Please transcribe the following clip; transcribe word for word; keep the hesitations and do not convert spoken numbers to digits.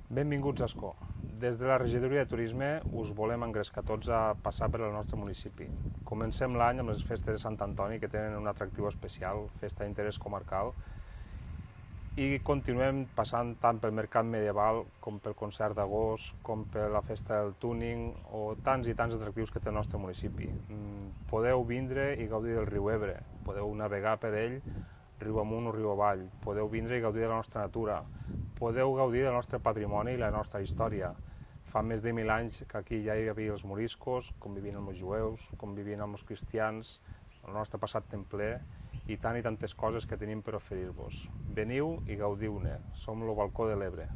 Benvinguts a Ascó. Des de la Regidoria de Turisme us volem engrescar tots a passar per al nostre municipi. Comencem l'any amb les festes de Sant Antoni, que tenen un atractiu especial, festa d'interès comarcal, i continuem passant tant pel mercat medieval com pel concert d'agost, com per la festa del túning o tants i tants atractius que té el nostre municipi. Podeu vindre i gaudir del riu Ebre, podeu navegar per ell riu amunt o riu avall, podeu vindre i gaudir de la nostra natura, podeu gaudir del nostre patrimoni i la nostra història. Fa més de mil anys que aquí ja hi havia els moriscos, convivint amb els jueus, convivint amb els cristians, el nostre passat templer i tant i tantes coses que tenim per oferir-vos. Veniu i gaudiu-ne, som el Balcó de l'Ebre.